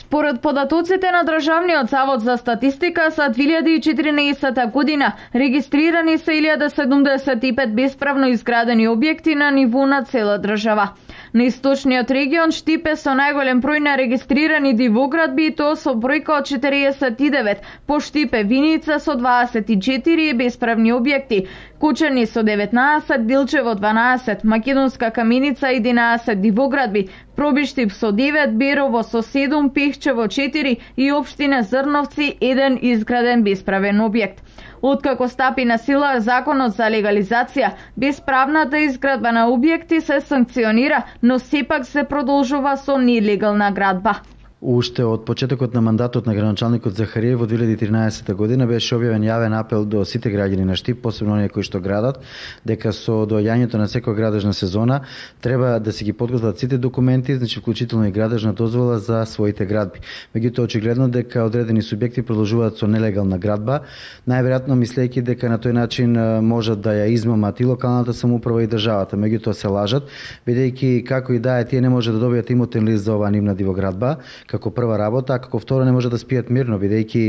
Според податоците на Државниот завод за статистика, за 2014 година регистрирани се 1075 бесправно изградени објекти на ниво на цела држава. На источниот регион Штипе со најголем број на регистрирани дивоградби, и тоа со бројка од 49, по Штипе Виница со 24 бесправни објекти, Кучани со 19, Дилчево 12, Македонска Каменица 11 дивоградби, Пробиштип со 9, Берово со 7, Пехчево 4 и општина Зрновци 1 изграден бесправен објект. Откако стапи на сила законот за легализација, бесправната изградба на објекти се санкционира, но сепак се продолжува со нелегална градба. Уште од почетокот на мандатот на градоначалникот Захариев во 2013 година беше објавен јавен апел до сите граѓани на Штип, посебно оние кои што градат, дека со доаѓањето на секоја градежна сезона треба да се ги подготват сите документи, значи вклучително и градежна дозвола за своите градби. Меѓутоа очигледно дека одредени субјекти продолжуваат со нелегална градба, најверојатно мислејќи дека на тој начин можат да ја измамат и локалната самоуправа и државата. Меѓутоа се лажат, бидејќи како и да е, тие не може да добијат имотен лист за оваа нивна дивоградба како прва работа, а како второ не може да спијат мирно, бидејќи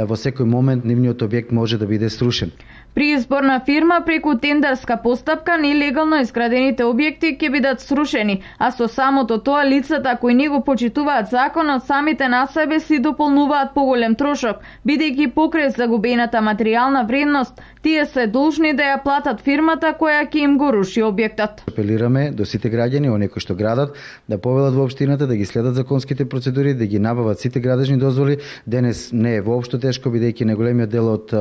во секој момент нивниот објект може да биде срушен. При избор на фирма преку тендерска постапка нелегално изградените објекти ќе бидат срушени, а со самото тоа лицата кои не го почитуваат законот самите на себе си дополнуваат поголем трошок, бидејќи покрај загубената материјална вредност, тие се должни да ја платат фирмата која ќе им го руши објектот. Апелираме до сите граѓани, оние кои што градат, да повелат во општината, да ги следат законските процедури, да ги набават сите градежни дозволи. Денес не е воопшто тешко, бидејќи најголемиот дел од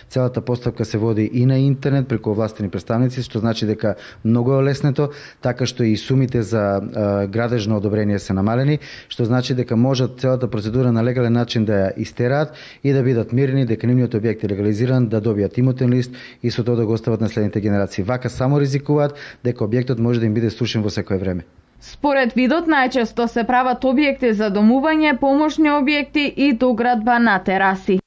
целата постапка се води и на интернет преку овластени представници, што значи дека многу е леснето, така што и сумите за градежно одобрение се намалени, што значи дека можат целата процедура на легален начин да ја истераат и да бидат мирни дека нивниот објект е легализиран, да добијат имотен лист и со тоа да го остават на следните генерации. Вака само ризикуваат дека објектот може да им биде срушен во секое време. Според видот, најчесто се прават објекти за домување, помошни објекти и доградба на тераси.